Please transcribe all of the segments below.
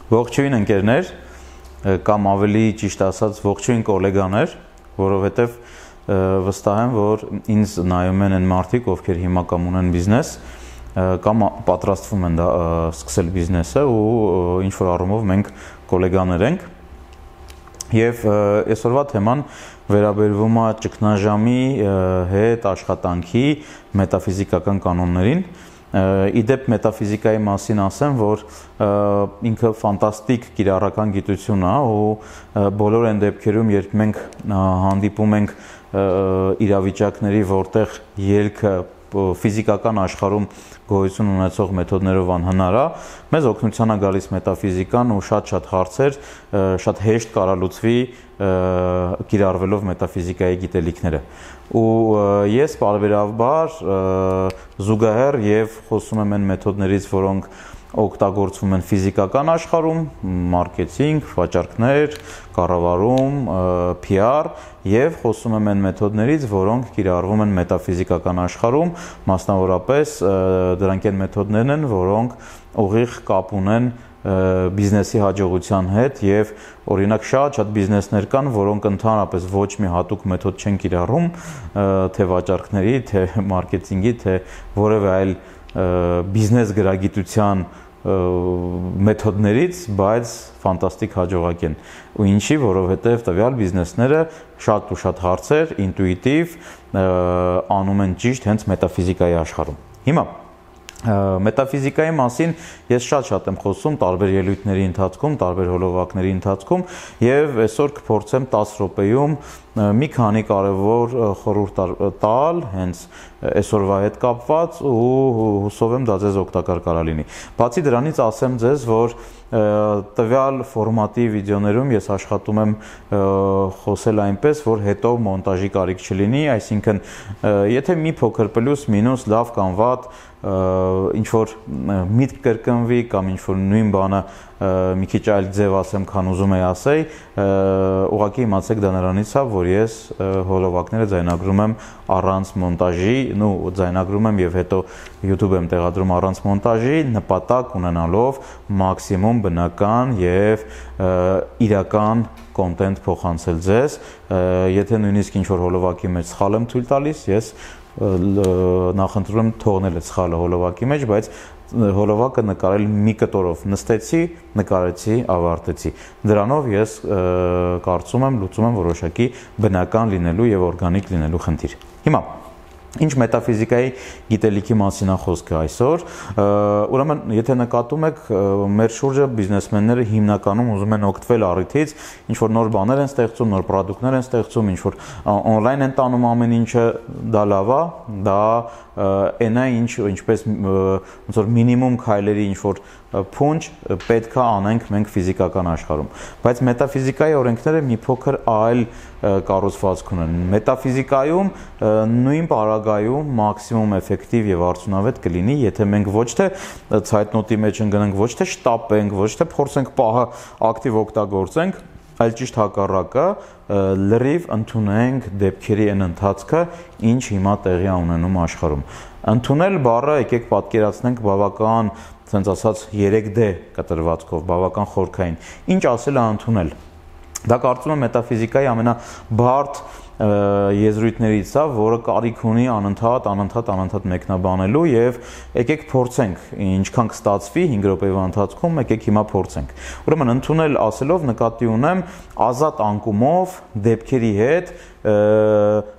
Ողջույն ընկերներ, կամ ավելի ճիշտ ասած ողջույն գոլեգաներ, որովհետև վստահ եմ, որ ինձ նայում են այն մարդիկ, ովքեր հիմա կամ ունեն բիզնես, կամ պատրաստվում են սկսել բիզնեսը ու ինչ որ առումով մենք գոլեգաներ ենք։ Եվ այսօրվա թեման վերաբերվում է ճգնաժամի հետ աշխատանքի մետաֆիզիկական կանոններին։ Իդեպ մետաֆիզիկայի մասին ասեմ, որ ինքը ֆանտաստիկ կիրառական գիտություն է ու բոլոր այն դեպքերում, երբ մենք հանդիպում ենք իրավիճակների, որտեղ ելքը ֆիզիկական աշխարհում գոյություն ունեցող մեթոդներով անհնար է, մեզ օգնության է գալիս մետաֆիզիկան ու շատ հարցեր շատ հեշտ կարալուծվի կիրառվելով մետաֆիզիկայի գիտելիքները։ Ու ես բարբերաբար զուգահեռ եւ խոսում եմ այն մեթոդներից, որոնք օգտագործվում են ֆիզիկական աշխարհում, մարքեթինգ, վաճառքներ, կառավարում, PR եւ խոսում եմ այն մեթոդներից, որոնք կիրառվում են մետաֆիզիկական աշխարհում, մասնավորապես դրանք այն մեթոդներն են, որոնք ուղիղ կապ ունեն բիզնեսի հաջողության հետ եւ օրինակ շատ բիզնեսներ կան, որոնք ընդհանրապես ոչ մի հատուկ մեթոդ չեն կիրառում, թե վաճառքների, թե մարքեթինգի, թե որևէ այլ բիզնես գրագիտության մեթոդներից, բայց ֆանտաստիկ հաջողակ են։ Ու ինչի, որովհետև տվյալ բիզնեսները շատ հարցեր ինտուիտիվ անում են ճիշտ հենց մետաֆիզիկայի աշխարհում։ Հիմա մետաֆիզիկայի մասին ես շատ եմ խոսում տարբեր ելույթների ընթացքում, տարբեր հոլովակների ընթացքում եւ այսօր կփորձեմ 10 րոպեում մի քանի կարևոր խորհուրդ տալ հենց այսօրվա հետ կապված ու հուսով եմ դա ձեզ օգտակար կարա լինի։ Բացի դրանից ասեմ ձեզ, որ տվյալ ֆորմատի վիդեոներում ես աշխատում եմ խոսել այնպես, որ հետո մոնտաժի կարիք չլինի, այսինքն եթե մի փոքր պլյուս մինուս լավ կամ վատ ինչ որ միտք կրկնվի կամ ինչ որ նույն բանը մի քիչ այլ ձև ասեմ, քան ուզում եի ասեի, ուղղակի իմացեք դա նրանից է, որ ես հոլովակները ձայնագրում եմ առանց մոնտաժի, ձայնագրում եմ եւ հետո YouTube եմ տեղադրում առանց մոնտաժի, նպատակ ունենալով մաքսիմում բնական եւ իրական կոնտենտ փոխանցել ձեզ։ Եթե նույնիսկ ինչ որ հոլովակի մեջ սխալ եմ թույլ տալիս, ես նախընտրում եմ թողնել այդ սխալը հոլովակի մեջ, բայց հոլովակը նկարել մի կտորով նստեցի, նկարեցի, ավարտեցի։ Դրանով ես կարծում եմ լուծում եմ որոշակի բնական լինելու եւ օրգանիկ լինելու խնդիր։ Հիմա ինչ մետաֆիզիկայի գիտելիքի մասին է խոսքը այսօր, ուրեմն եթե նկատում եք, մեր շուրջը բիզնեսմենները հիմնականում ուզում են օգտվել առիթից, ինչ որ նոր բաներ են ստեղծում, նոր պրոդուկտներ են ստեղծում, ինչ որ on-line են տանում ամեն ինչը, դա լավ է, դա այնա ինչպես ոնց որ մինիմում քայլերի ինչ որ փունջ պետք է անենք մենք ֆիզիկական աշխարհում, բայց մետաֆիզիկայի օրենքները մի փոքր այլ կառուցվածք ունեն։ Մետաֆիզիկայում նույն պարագայում մաքսիմում էֆեկտիվ եւ արդյունավետ կլինի, եթե մենք ոչ թե ցայտնոտի մեջ ընկնենք, ոչ թե շտապենք, ոչ թե փորձենք պահը ակտիվ օգտագործենք, այլ ճիշտ հակառակը լրիվ ընդունենք դեպքերի այն ընթացքը, ինչ հիմա տեղի է ունենում աշխարհում։ Ընդունել բառը եկեք պատկերացնենք բավական, ասենց ասած 3D կտրվածքով, բավական խորքային։ Ինչ ասել է ընդունել։ Դա կարծում եմ մետաֆիզիկայի ամենաբարդ եզրույթներից է, որը կարիք ունի անընդհատ մեկնաբանելու եւ եկեք փորձենք, ինչքան կստացվի 5 րոպեվա ընթացքում, եկեք հիմա փորձենք։ Ուրեմն ընդունել ասելով նկատի ունեմ ազատ անկումով դեպքերի հետ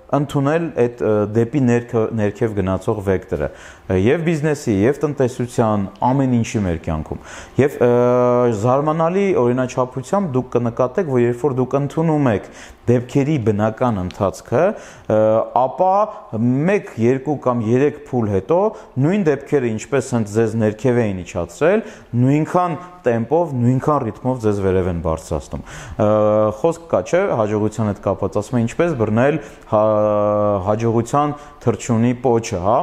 ընդունել այդ դեպի ներքև գնացող վեկտորը եւ բիզնեսի եւ տնտեսության ամեն ինչի մեր կյանքում եւ զարմանալի օրինաչափությամբ դուք կնկատեք, որ երբ որ դուք ընդունում եք դեպքերի բնական ընթացքը, ապա 1, 2 կամ 3 փուլ հետո նույն դեպքերը ինչպես հենց ձեզ ներքև էին իջացրել, նույնքան տեմպով, նույնքան ռիթմով ձեզ վերև են բարձրացնում։ Խոսք կա, չէ, հաջողության հետ կապված, ասում են ինչպես բռնել հաջողության թռչունի պոչը, հա,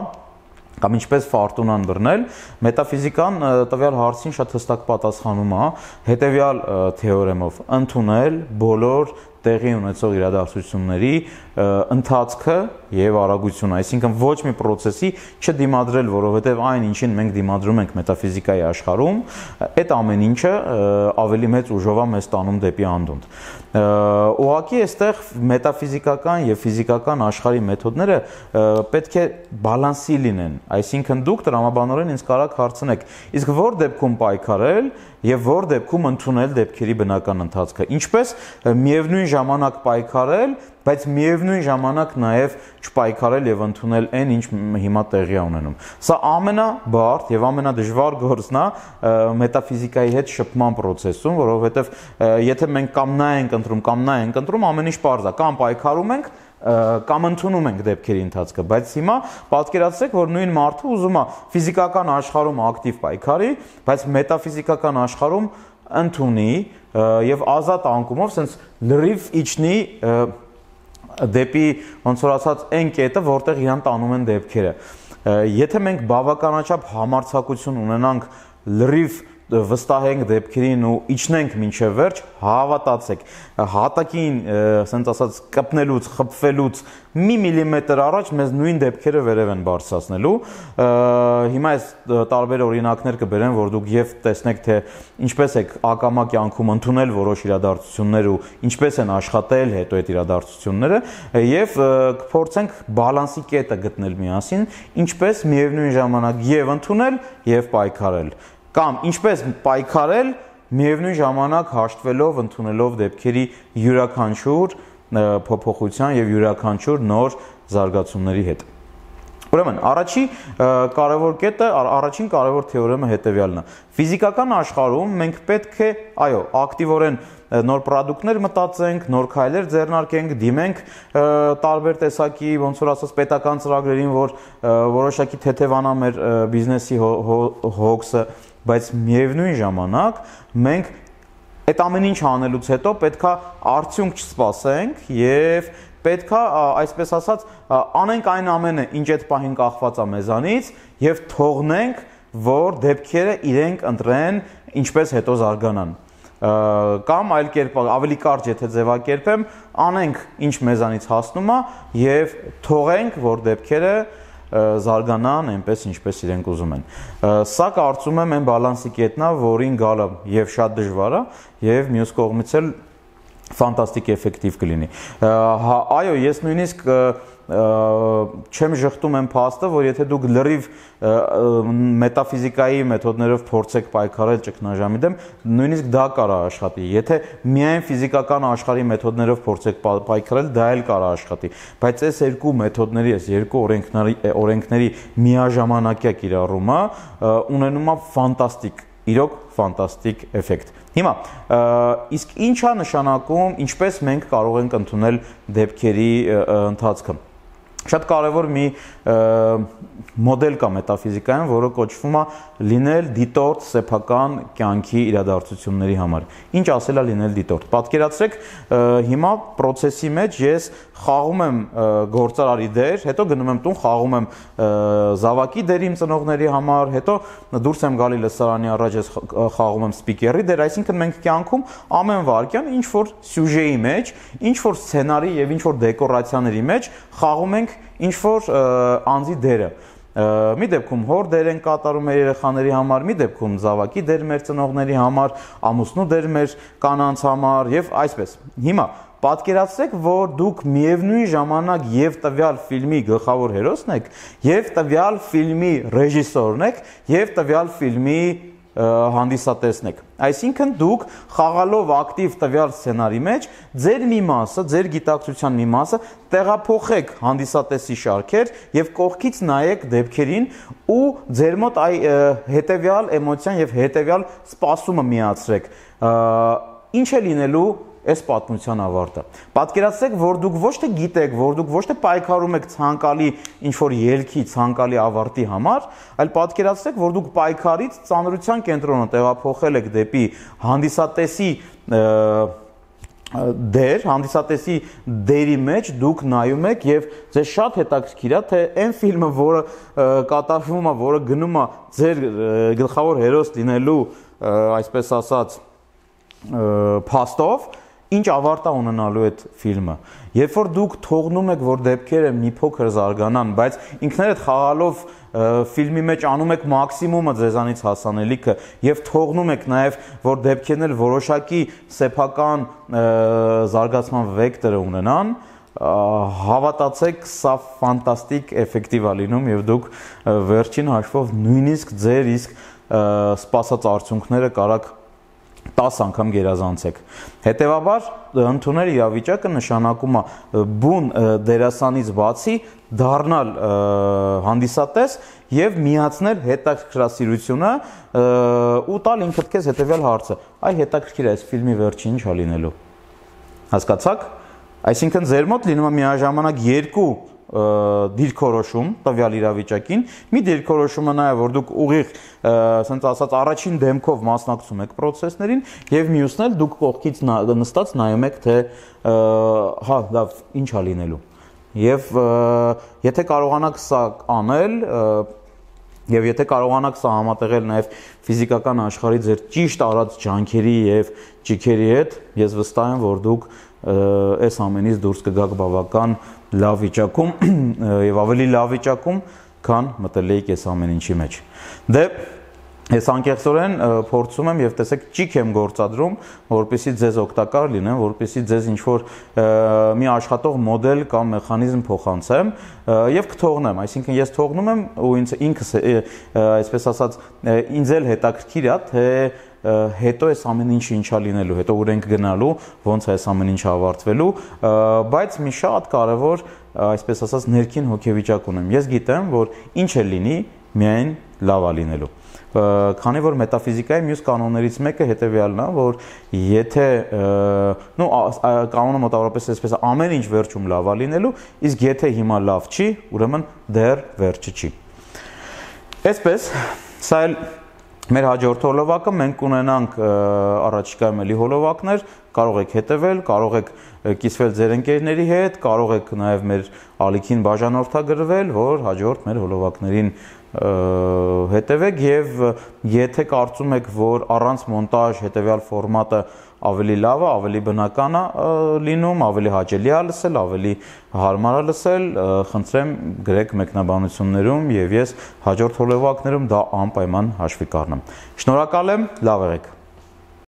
կամ ինչպես ֆարտունան բռնել, մետաֆիզիկան տվյալ հարցին շատ հստակ պատասխանում է հետևյալ թեորեմով՝ ընդունել բոլոր տեղի ունեցող իրադարձությունների ընթացքը եւ արագությունը, այսինքն ոչ մի process-ի չդիմադրել, որովհետեւ այն ինչին մենք դիմադրում ենք մետաֆիզիկայի աշխարհում, այդ ամեն ինչը ավելի մեծ ուժով է մեզ տանում դեպի անդունդ։ Ուղղակի այստեղ մետաֆիզիկական եւ ֆիզիկական աշխարհի մեթոդները պետք է բալանսի լինեն, այսինքն դուք տրամաբանորեն ինձ կարաք հարցնեք, իսկ որ դեպքում պայքարել եւ որ դեպքում ընդունել դեպքերի բնական ընթացքը, ինչպես միևնույն ժամանակ պայքարել, բայց միևնույն ժամանակ նաեւ չպայքարել եւ ընդունել այն, ինչ հիմա տեղի ունենում։ Սա ամենաբարդ եւ ամենադժվար գործն է մետաֆիզիկայի հետ շփման process-ում, որովհետեւ եթե մենք կամ նա ենք ընտրում, կամ նա ենք ընտրում, ամեն ինչ պարզ է, կամ պայքարում ենք, կամ ընդունում ենք դեպքերի ընթացքը, բայց հիմա պատկերացրեք, որ նույն մարդը ուզում է ֆիզիկական աշխարհում ակտիվ պայքարի, բայց մետաֆիզիկական աշխարհում ընդունի եւ ազատ անկումով sense լրիվ իջնի դեպի ոնց որ ասած այն կետը, որտեղ իրան տանում են դեպքերը։ Եթե մենք բավականաչափ համարձակություն ունենանք լրիվ վստահենք դեպքերին ու իջնենք մինչև վերջ, հավատացեք, հատակին, ասենք ասած, կպնելուց, խփվելուց մի միլիմետր առաջ մեզ նույն դեպքերը վերև են բարձրացնելու։ Հիմա այս տարբեր օրինակներ կբերեմ, որ դուք եւ տեսնեք, թե ինչպես եք ակամա կյանքում ընդունել որոշ իրադարձություններ ու ինչպես են աշխատել հետո այդ իրադարձությունները, եւ կփորձենք բալանսի կետը գտնել միասին, ինչպես միևնույն ժամանակ եւ ընդունել եւ պայքարել։ Կամ ինչպես պայքարել միևնույն ժամանակ հաշտվելով, ընդունելով դեպքերի յուրաքանչյուր փոփոխության եւ յուրաքանչյուր նոր զարգացումների հետ։ Ուրեմն, առաջին կարևոր թեորեմը հետեւյալն է։ Ֆիզիկական աշխարհում մենք պետք է, այո, ակտիվորեն նոր պրոդուկտներ մտածենք, նոր քայլեր ձեռնարկենք, դիմենք տարբեր տեսակի, ոնց որ ասած, պետական ծրագրերին, որ որոշակի թեթևանա մեր բիզնեսի հոգսը, բայց միևնույն ժամանակ մենք այդ ամեն ինչ անելուց հետո պետքա արդյունք չսպասենք եւ պետքա, այսպես ասած, անենք այն ամենը, ինչ այդ պահին կախված է մեզանից եւ թողնենք, որ դեպքերը իրենք ընտրեն, ինչպես հետո զարգանան։ Կամ այլ կերպ, ավելի կարճ եթե ձևակերպեմ, անենք ինչ մեզանից հասնում է եւ թողենք, որ դեպքերը զարգանան այնպես, ինչպես իրենք ուզում են։ Սա կարծում եմ այն բալանսի կետն է, որին գալը եւ շատ դժվար է եւ մյուս կողմից էլ ֆանտաստիկ էֆեկտիվ կլինի։ Այո, ես նույնիսկ չեմ ժխտում եմ փաստը, որ եթե դուք լրիվ մետաֆիզիկայի մեթոդներով փորձեք պայքարել ճգնաժամի դեմ, նույնիսկ դա կարա աշխատի։ Եթե միայն ֆիզիկական աշխարհի մեթոդներով փորձեք պայքարել, դա էլ կարա աշխատի։ Բայց այս երկու մեթոդների, այս երկու օրենքների միաժամանակյա կիրառումը ունենում է ֆանտաստիկ, իրոք ֆանտաստիկ էֆեկտ։ Հիմա, իսկ ինչ է նշանակում, ինչպես մենք կարող ենք ընդունել դեպքերի ընթացքը։ Շատ կարևոր մի մոդել կա մետաֆիզիկայում, որը կոչվում է լինել դիտորդ սեփական կյանքի իրադարձությունների համար։ Ինչ ասել է լինել դիտորդ։ Պատկերացրեք, հիմա process-ի մեջ ես խաղում եմ գործարարի դեր, հետո գնում եմ տուն, խաղում եմ զավակի դեր իմ ծնողների համար, հետո դուրս եմ գալի լսարանի առաջ, ես խաղում եմ սպիկերի դեր, այսինքն մենք կյանքում ամեն վարքյան ինչ որ սյուժեի մեջ, ինչ որ սցենարի եւ ինչ որ դեկորացիաների մեջ խաղում ենք ինչ որ անձի դերը։ Մի դեպքում հոր դեր են կատարում մեր երեխաների համար, մի դեպքում զավակի դեր մեր ծնողների համար, ամուսնու դեր մեր կանանց համար եւ այսպես։ Հիմա պատկերացրեք, որ դուք միևնույն ժամանակ եւ տվյալ ֆիլմի գլխավոր հերոսն եք, եւ տվյալ ֆիլմի ռեժիսորն եք, եւ տվյալ ֆիլմի հանդիսատեսն եք։ Այսինքն դուք խաղալով ակտիվ տվյալ սցենարի մեջ ձեր մի մասը, ձեր գիտակցության մի մասը տեղափոխեք հանդիսատեսի շարքեր եւ կողքից նայեք դեպքերին ու ձեր մոտ հետեւյալ էմոցիան եւ հետեւյալ սպասումը միացրեք։ Ինչ է լինելու այս պատմության ավարտը։ Պատկերացրեք, որ դուք ոչ թե գիտեք, որ դուք ոչ թե պայքարում եք ցանկալի ինչ-որ ելքի, ցանկալի ավարտի համար, այլ պատկերացրեք, որ դուք պայքարից ծանրության կենտրոնը տեղափոխել եք դեպի հանդիսատեսի դեր, հանդիսատեսի դերի մեջ դուք նայում եք եւ ձեզ շատ հետաքրքիր է, թե այն ֆիլմը, որը կատարվում է, որը գնում է ձեր գլխավոր հերոս լինելու, այսպես ասած, փաստով, ինչ ավարտ է ունենալու այդ ֆիլմը։ Երբ որ դուք թողնում եք, որ դեպքերը մի փոքր զարգանան, բայց ինքներդ խաղալով ֆիլմի մեջ անում եք մաքսիմումը ձեզանից հասանելիքը եւ թողնում եք նաեւ, որ դեպքերն էլ որոշակի սեփական զարգացման վեկտորը ունենան, հավատացեք, սա ֆանտաստիկ էֆեկտիվ է լինում եւ դուք վերջին հաշվով նույնիսկ ձեր իսկ սպասած արդյունքները կարաք 10 անգամ գերազանցեք։ Հետևաբար ընդունել իրավիճակը նշանակում է բուն դերասանից բացի դառնալ հանդիսատես եւ միացնել հետաքրքրասիրությունը ու տալ ինքդ քեզ հետեւյալ հարցը. այ հետաքրքիր է այս ֆիլմի վերջին ինչ է լինելու։ Հասկացաք։ Այսինքն ձեր մոտ լինում է միաժամանակ երկու դիրքորոշում տվյալ իրավիճակին, մի դիրքորոշումը նա է, որ դուք ուղիղ, ասենց ասած, առաջին դեմքով մասնակցում եք process-ներին եւ մյուսն էլ դուք կողքից նստած նայում եք, թե հա, լավ, ինչ է լինելու։ Եվ եթե կարողանաք սա անել, եւ եթե կարողանաք սա համատեղել նաեւ ֆիզիկական աշխարհի ձեր ճիշտ արած ջանքերի եւ ճիքերի հետ, ես վստահ եմ, որ դուք այս ամենից դուրս կգաք բավական լավ վիճակում եւ ավելի լավ վիճակում, քան մտել եք այս ամեն ինչի մեջ։ Դե ես անկեղծորեն փորձում եմ եւ տեսեք ճիք եմ գործադրում, որպեսզի ձեզ օգտակար լինեմ, որպեսզի ձեզ ինչ որ մի աշխատող մոդել կամ մեխանիզմ փոխանցեմ եւ կթողնեմ, այսինքն ես թողնում եմ ու ինքս այսպես ասած ինձ էլ հետաքրքիր է, թե հետո այս ամեն ինչը ինչա լինելու, հետո ուր ենք գնալու, ոնց է այս ամեն ինչը ավարտվելու, բայց մի շատ կարևոր, այսպես ասած, ներքին հոգեվիճակ ունեմ։ Ես գիտեմ, որ ինչ է լինի, միայն լավ է լինելու։ Քանի որ մետաֆիզիկայի մյուս կանոններից մեկը հետևյալն է, որ եթե կանոնը մոտավորապես այսպես է, ամեն ինչ վերջում լավ է լինելու, իսկ եթե հիմա լավ չի, ուրեմն դեռ վերջը չի։ Այսպես, սա էլ մեր հաջորդ հոլովակը, մենք կունենանք առաջիկայում էլի հոլովակներ, կարող եք հետևել, կարող եք կիսվել ձեր ընկերների հետ, կարող եք նաև մեր ալիքին բաժանորդագրվել, որ հաջորդ մեր հոլովակներին հետևեք եւ եթե կարծում եք, որ առանց մոնտաժ հետեւյալ ֆորմատը ավելի լավ է, ավելի բնական է լինում, ավելի հաճելի է լսել, ավելի հարմար է լսել, խնդրեմ գրեք մեկնաբանություններում եւ ես հաջորդ հոլովակներում դա անպայման հաշվի կառնեմ։ Շնորհակալ եմ, լավ եղեք։